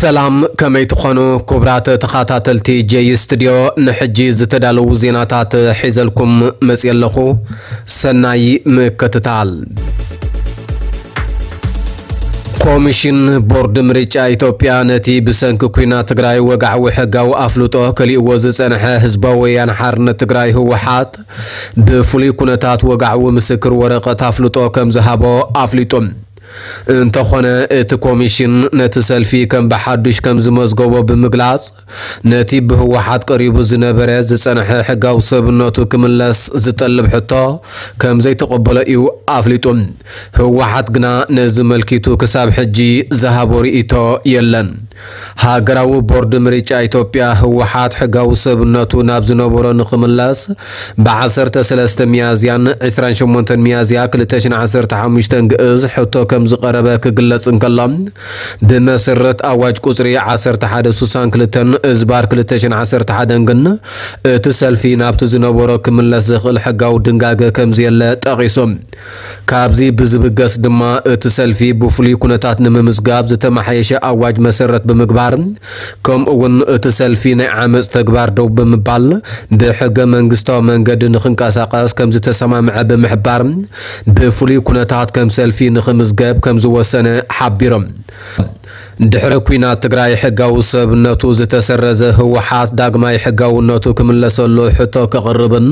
ሰላም፣ ከመይ ትኾኑ ክቡራት ተኸታተልቲ ጀይ ስቱድዮ? ንሕጂ ዝተዳለዉ ዜናታት ሒዘልኩም መፅየ ኣለኹ። ሰናይ ምክትታል። ኮሚሽን ቦርድ ምርጫ ኢትዮጵያ ነቲ ብሰንኪ ኲናት ትግራይ ወግዓዊ ሕጋዊ ኣፍልጦ ከሊእዎ ዝጸንሐ ህዝባዊ ወያነ ሓርነት ትግራይ ህወሓት ብፍሉይ ኩነታት ወግዓዊ ምስክር ወረቐት ኣፍልጦ ከም ዝሃቦ ኣፍሊጡ። እንተኾነ እቲ ኮሚሽን ነቲ ሰልፊ ከም ብሓዱሽ ከም ዝመዝገቦ ብምግላጽ፣ ነቲ ብህወሓት ቀሪቡ ዝነበረ ዝጸንሐ ሕጋዊ ሰብነቱ ክምለስ ዝጠልብ ሕቶ ከም ዘይተቐበሎ እዩ ኣፍሊጡ። ህወሓት ግና ነዚ መልኪቱ ክሳብ ሕጂ ዝሃቦ ርእይቶ የለን። ሃገራዊ ቦርድ ምርጫ ኢትዮጵያ ህወሓት ሕጋዊ ሰብነቱ ናብ ዝነበሮ ንኽምለስ ብ ዓሰርተ ሰለስተ ሚያዝያን ዕስራን ሸሞንተን ሚያዝያ ክልተ ሽሕን ዓሰርተ ሓሙሽተን ግእዝ ሕቶ ከም ዝቐረበ ክግለጽ እንከሎ፣ ብመሰረት ኣዋጅ ቁጽሪ ዓሰርተ ሓደ ስሳን ክልተን እዝባር ክልተ ሽሕን ዓሰርተ ሓደን ግን እቲ ሰልፊ ናብቲ ዝነበሮ ክምለስ ዘኽእል ሕጋዊ ድንጋገ ከም ዘየለ ጠቒሱ። ካብዚ ብዝብገስ ድማ እቲ ሰልፊ ብፍሉይ ኩነታት ንምምዝጋብ ዝተመሓየሸ ኣዋጅ መሰረት ብምግባር፣ ከምኡ እውን እቲ ሰልፊ ናይ ዓመፅ ተግባር ደው ብምባል ብሕገ መንግስታዊ መንገዲ ንክንቀሳቀስ ከም ዝተሰማምዐ ብምሕባር፣ ብፍሉይ ኩነታት ከም ሰልፊ ንክምዝገብ ከም ዝወሰነ ሓቢሮም። ድሕሪ ኲናት ትግራይ ሕጋዊ ሰብነቱ ዝተሰረዘ ህወሓት ዳግማይ ሕጋውነቱ ክምለሰሉ ሕቶ ከቕርብን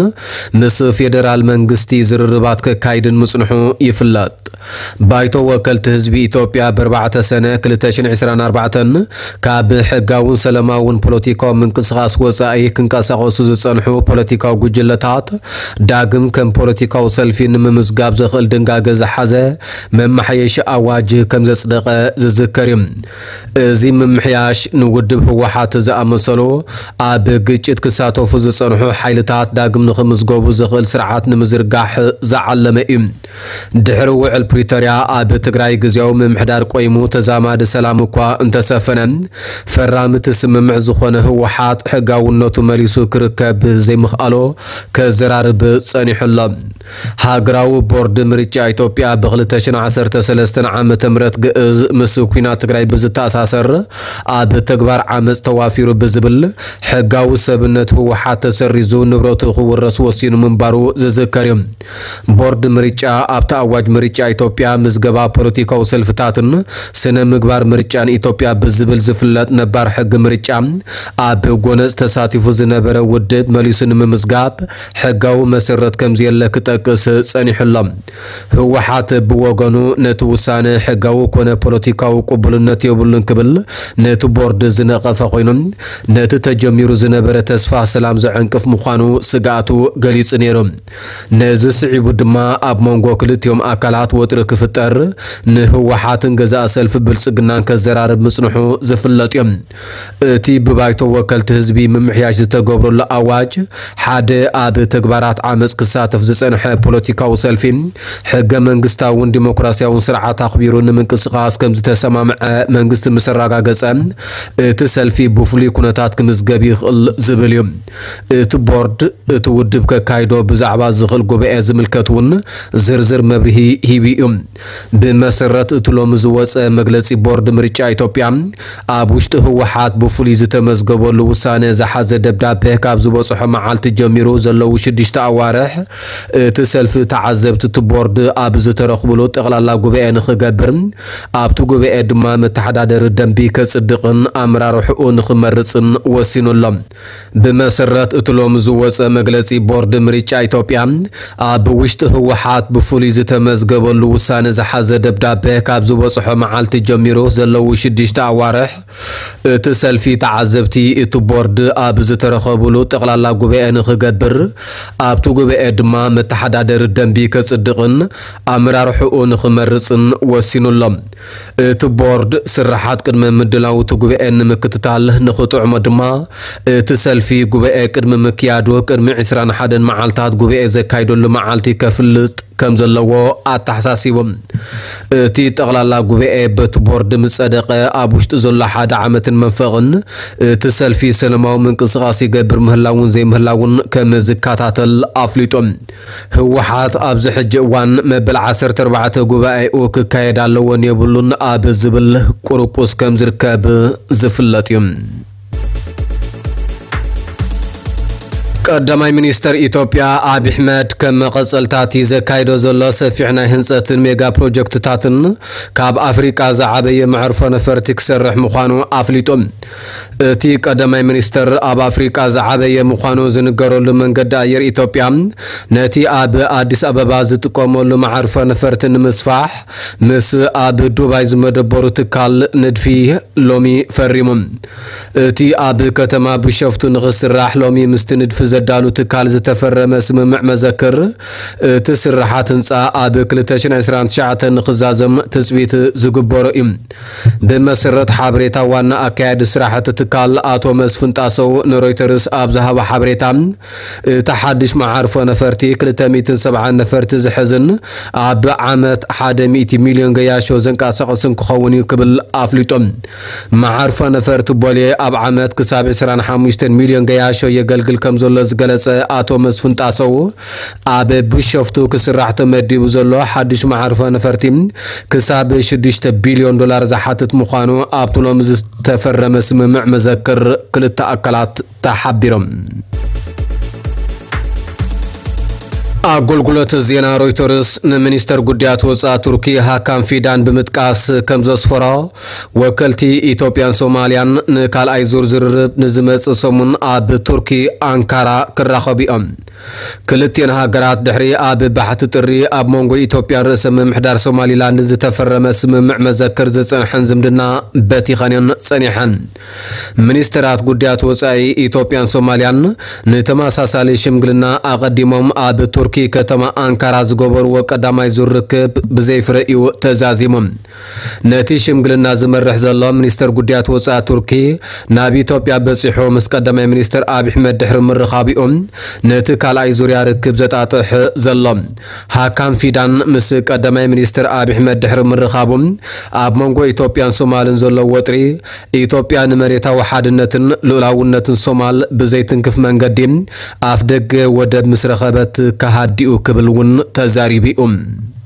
ምስ ፌደራል መንግስቲ ዝርርባት ከካይድን ምጽንሑ ይፍለጥ። ባይቶ ወከልቲ ህዝቢ ኢትዮጵያ ብ ኣርባዕተ ሰነ ክልተ ሽሕን ዕስራን ኣርባዕተን ካብ ሕጋውን ሰላማውን ፖለቲካዊ ምንቅስቓስ ወጻኢ ክንቀሳቐሱ ዝጸንሑ ፖለቲካዊ ጉጅለታት ዳግም ከም ፖለቲካዊ ሰልፊ ንምምዝጋብ ዘኽእል ድንጋገ ዝሓዘ መመሓየሺ ኣዋጅ ከም ዘጽደቐ ዝዝከር እዩ። እዚ ምምሕያሽ ንውድብ ህወሓት ዝኣመሰሉ ኣብ ግጭት ክሳተፉ ዝጸንሑ ሓይልታት ዳግም ንኽምዝገቡ ዘኽእል ስርዓት ንምዝርጋሕ ዝዓለመ እዩ። ድሕሪ ውዕል ፕሪቶርያ ኣብ ትግራይ ግዝያዊ ምምሕዳር ቆይሙ ተዛማዲ ሰላም እኳ እንተሰፈነ፣ ፈራሚ እቲ ስምምዕ ዝኾነ ህወሓት ሕጋውነቱ መሊሱ ክርከብ ዘይምኽኣሉ ከዘራርብ ጸኒሑ ኣሎ። ሃገራዊ ቦርድ ምርጫ ኢትዮጵያ ብ ክልተ ሽሕን ዓሰርተ ሰለስተን ዓመተ ምህረት ግእዝ ምስ ኲናት ትግራይ ብዝተኣሳሰር ኣብ ተግባር ዓመፅ ተዋፊሩ ብዝብል ሕጋዊ ሰብነት ህወሓት ተሰሪዙ ንብረቱ ክውረስ ወሲኑ ምንባሩ ዝዝከር እዩ። ቦርድ ምርጫ ኣብቲ ኣዋጅ ምርጫ ኢትዮጵያ ምዝገባ ፖለቲካዊ ሰልፍታትን ስነ ምግባር ምርጫን ኢትዮጵያ ብዝብል ዝፍለጥ ነባር ሕጊ ምርጫ ኣብ ጎነፅ ተሳቲፉ ዝነበረ ውድብ መሊሱ ንምምዝጋብ ሕጋዊ መሰረት ከም ዘየለ ክጠቅስ ጸኒሑ ኣሎ። ህወሓት ብወገኑ ነቲ ውሳነ ሕጋዊ ኮነ ፖለቲካዊ ቅቡልነት የብሉን ክብል ነቲ ቦርድ ዝነቐፈ ኮይኑ፣ ነቲ ተጀሚሩ ዝነበረ ተስፋ ሰላም ዘዐንቅፍ ምዃኑ ስግኣቱ ገሊጹ ነይሩ። ነዚ ስዒቡ ድማ ኣብ መንጎ ክልቲኦም ኣካላት ወጥሪ ክፍጠር፣ ንህወሓትን ገዛእ ሰልፊ ብልጽግናን ከዘራርብ ምጽንሑ ዝፍለጥ እዩ። እቲ ብባይቶ ወከልቲ ህዝቢ ምምሕያሽ ዝተገብረሉ ኣዋጅ ሓደ ኣብ ተግባራት ዓመፅ ክሳተፍ ዝጸንሐ ፖለቲካዊ ሰልፊ ሕገ መንግስታውን ዲሞክራሲያውን ስርዓት ኣኽቢሩ ንምንቅስቓስ ከም ዝተሰማምዐ መንግስቲ ምስ ኣረጋገጸ፣ እቲ ሰልፊ ብፍሉይ ኩነታት ክምዝገብ ይኽእል ዝብል እዩ። እቲ ቦርድ እቲ ውድብ ከካይዶ ብዛዕባ ዝኽእል ጉባኤ ዝምልከት እውን ዝርዝር መብርሂ ሂቡ እዩ። ብመሰረት እቲ ሎሚ ዝወፀ መግለፂ ቦርድ ምርጫ ኢትዮጵያ ኣብ ውሽጢ ህወሓት ብፍሉይ ዝተመዝገበሉ ውሳነ ዝሓዘ ደብዳቤ ካብ ዝበፅሖ መዓልቲ ጀሚሩ ዘለዉ ሽዱሽተ ኣዋርሕ እቲ ሰልፊ ተዓዘብቲ እቲ ቦርድ ኣብ ዝተረኽብሉ ጠቕላላ ጉባኤ ንኽገብር ኣብቲ ጉባኤ ድማ መተሓዳደሪ ደንቢ ከፅድቕን ኣመራርሕኡ ንኽመርፅን ወሲኑ ኣሎ። ብመሰረት እቲ ሎሚ ዝወፀ መግለፂ ቦርድ ምርጫ ኢትዮጵያ ኣብ ውሽጢ ህወሓት ብፍሉይ ዝተመዝገበሉ ውሳነ ዝሓዘ ደብዳቤ ካብ ዝበፅሖ መዓልቲ ጀሚሩ ዘለዉ ሽዱሽተ ኣዋርሕ እቲ ሰልፊ ተዓዘብቲ እቲ ቦርድ ኣብ ዝተረኸብሉ ጠቕላላ ጉባኤ ንኽገብር ኣብቲ ጉባኤ ድማ መተሓዳደሪ ደንቢ ከፅድቕን ኣመራርሕኡ ንኽመርፅን ወሲኑ ኣሎ። እቲ ቦርድ ስራሓት ቅድመ ምድላው እቲ ጉባኤ ንምክትታል ንኽጥዕሞ ድማ እቲ ሰልፊ ጉባኤ ቅድሚ ምክያዱ ቅድሚ ዕስራን ሓደን መዓልታት ጉባኤ ዘካይደሉ መዓልቲ ከፍልጥ ከም ዘለዎ ኣተሓሳሲቡ። እቲ ጠቕላላ ጉባኤ በቲ ቦርድ ምስ ጸደቐ፣ ኣብ ውሽጢ ዘሎ ሓደ ዓመትን መንፈቕን እቲ ሰልፊ ሰላማዊ ምንቅስቓስ ይገብር ምህላውን ዘይምህላውን ከም ዝከታተል ኣፍሊጡ። ህወሓት ኣብዚ ሕጂ እዋን መበል ዓሰርተ ኣርባዕተ ጉባኤኡ ክካየድ ኣለዎን የብሉን ኣብ ዝብል ቁርቁስ ከም ዝርከብ ዝፍለጥ እዩ። ቀዳማይ ሚኒስተር ኢትዮጵያ ኣብይ ኣሕመድ ከም መቐጸልታቲ ዘካይዶ ዘሎ ሰፊሕ ናይ ህንጸትን ሜጋ ፕሮጀክትታትን ካብ ኣፍሪቃ ዝዓበየ መዕርፎ ነፈርቲ ክሰርሕ ምዃኑ ኣፍሊጡ። እቲ ቀዳማይ ሚኒስተር ኣብ ኣፍሪቃ ዝዓበየ ምዃኑ ዝንገረሉ መንገዲ ኣየር ኢትዮጵያ ነቲ ኣብ ኣዲስ ኣበባ ዝጥቀመሉ መዓርፎ ነፈርቲ ንምስፋሕ ምስ ኣብ ዱባይ ዝመደበሩ ትካል ንድፊ ሎሚ ፈሪሙ። እቲ ኣብ ከተማ ቢሾፍቱ ንኽስራሕ ሎሚ ምስቲ ንድፊ ዘዳሉ ትካል ዝተፈረመ ስምምዕ መዘክር፣ እቲ ስርሓት ህንጻ ኣብ ክልተ ሽሕን ዕስራን ትሽዓተን ንኽዛዘም ትጽቢት ዝግበሮ እዩ። ብመሰረት ሓበሬታ ዋና ኣካያዲ ስራሕ እቲ ትካል ኣቶ መስፍን ጣሰው ንሮይተርስ ኣብ ዝሃቦ ሓበሬታ፣ እቲ ሓድሽ መዓርፎ ነፈርቲ ክልተ ሚእትን ሰብዓን ነፈርቲ ዝሕዝን ኣብ ዓመት ሓደ ሚእቲ ሚልዮን ገያሾ ዘንቀሳቕስን ክኸውን እዩ ክብል ኣፍሊጡ። መዓርፎ ነፈርቲ ቦሌ ኣብ ዓመት ክሳብ ዕስራን ሓሙሽተን ሚልዮን ገያሾ የገልግል ከም ዘሎ ዝገለጸ ኣቶ መስፍን ጣሰው፣ ኣብ ቢሾፍቱ ክስራሕ ተመዲቡ ዘሎ ሓድሽ መዓርፎ ነፈርቲ ክሳብ ሽዱሽተ ቢልዮን ዶላር ዝሓትት ምዃኑ ኣብቲ ሎሚ ዝተፈረመ ስምምዕ መዘክር ክልተ ኣካላት ተሓቢሮም። ኣገልግሎት ዜና ሮይተርስ ንሚኒስተር ጉዳያት ወጻኢ ቱርኪ ሃካን ፊዳን ብምጥቃስ ከም ዘስፈሮ፣ ወከልቲ ኢትዮጵያን ሶማልያን ንካልኣይ ዙር ዝርርብ ንዝመጽእ ሰሙን ኣብ ቱርኪ ኣንካራ ክራኸቡ እዮም። ክልቲኤን ሃገራት ድሕሪ ኣብ ባሕቲ ጥሪ ኣብ መንጎ ኢትዮጵያን ርእሰ ምምሕዳር ሶማሊላንድ ዝተፈረመ ስምምዕ መዘክር ዝጸንሐን ዝምድና በቲኸን እየን ጸኒሐን። ሚኒስተራት ጉዳያት ወጻኢ ኢትዮጵያን ሶማልያን ንተመሳሳሊ ሽምግልና ኣቐዲሞም ኣብ ቱርኪ ከተማ ኣንካራ ዝገበርዎ ቀዳማይ ዙር ርክብ ብዘይ ፍረ እዩ ተዛዚሙ። ነቲ ሽምግልና ዝመርሕ ዘሎ ሚኒስተር ጉዳያት ወጻኢ ቱርኪ ናብ ኢትዮጵያ በጺሑ ምስ ቀዳማይ ሚኒስተር ኣብይ ኣሕመድ ድሕሪ ምርኻቡ እዩ ነቲ ካልኣይ ዙርያ ርክብ ዘጣጥሕ ዘሎ። ሃካን ፊዳን ምስ ቀዳማይ ሚኒስተር ኣብይ ኣሕመድ ድሕሪ ምርኻቡ፣ ኣብ መንጎ ኢትዮጵያን ሶማልን ዘሎ ወጥሪ፣ ኢትዮጵያ ንመሬታዊ ሓድነትን ልኡላውነትን ሶማል ብዘይትንክፍ መንገዲ ኣፍ ደገ ወደብ ምስ ረኸበት ክሃድእ እዩ ክብል እውን ተዛሪቡ እዩ።